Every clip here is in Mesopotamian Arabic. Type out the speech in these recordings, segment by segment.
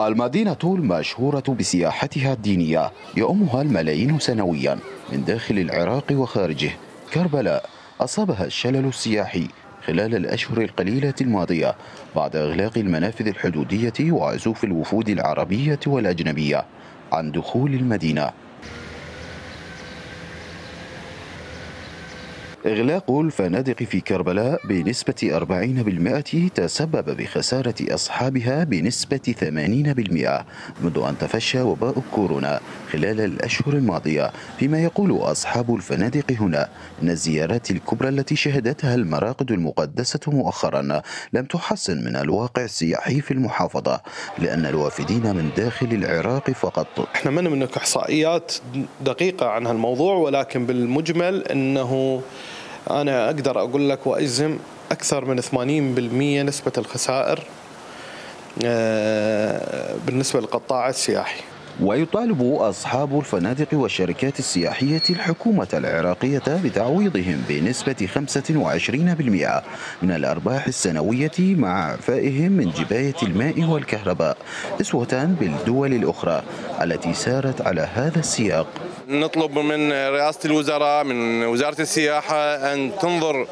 المدينة المشهورة بسياحتها الدينية يؤمها الملايين سنويا من داخل العراق وخارجه. كربلاء أصابها الشلل السياحي خلال الأشهر القليلة الماضية بعد إغلاق المنافذ الحدودية وعزوف الوفود العربية والأجنبية عن دخول المدينة. إغلاق الفنادق في كربلاء بنسبة 40% تسبب بخسارة أصحابها بنسبة 80% منذ أن تفشى وباء كورونا خلال الأشهر الماضية. فيما يقول أصحاب الفنادق هنا أن الزيارات الكبرى التي شهدتها المراقد المقدسة مؤخرا لم تحسن من الواقع السياحي في المحافظة، لأن الوافدين من داخل العراق فقط. احنا ما نملك إحصائيات دقيقة عن هالموضوع، ولكن بالمجمل أنه أنا أقدر أقول لك وأجزم أكثر من 80% نسبة الخسائر بالنسبة للقطاع السياحي. ويطالب أصحاب الفنادق والشركات السياحية الحكومة العراقية بتعويضهم بنسبة 25% من الأرباح السنوية مع إعفائهم من جباية الماء والكهرباء، أسوة بالدول الأخرى التي سارت على هذا السياق. نطلب من رئاسة الوزراء، من وزارة السياحة، أن تنظر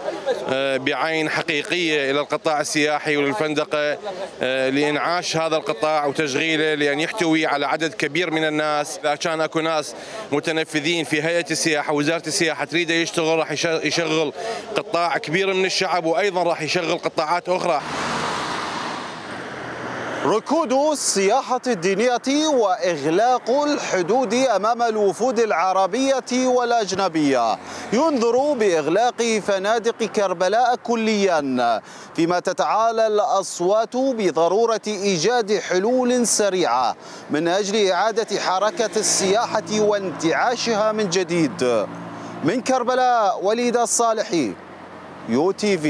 بعين حقيقية إلى القطاع السياحي وللفندقة لإنعاش هذا القطاع وتشغيله، لأن يحتوي على عدد كبير من الناس. إذا كان أكو ناس متنفذين في هيئة السياحة ووزارة السياحة تريد يشتغل، راح يشغل قطاع كبير من الشعب، وأيضا راح يشغل قطاعات أخرى. ركود السياحة الدينية وإغلاق الحدود أمام الوفود العربية والأجنبية ينذر بإغلاق فنادق كربلاء كليا، فيما تتعالى الأصوات بضرورة إيجاد حلول سريعة من أجل إعادة حركة السياحة وانتعاشها من جديد. من كربلاء، وليد الصالحي، UTV.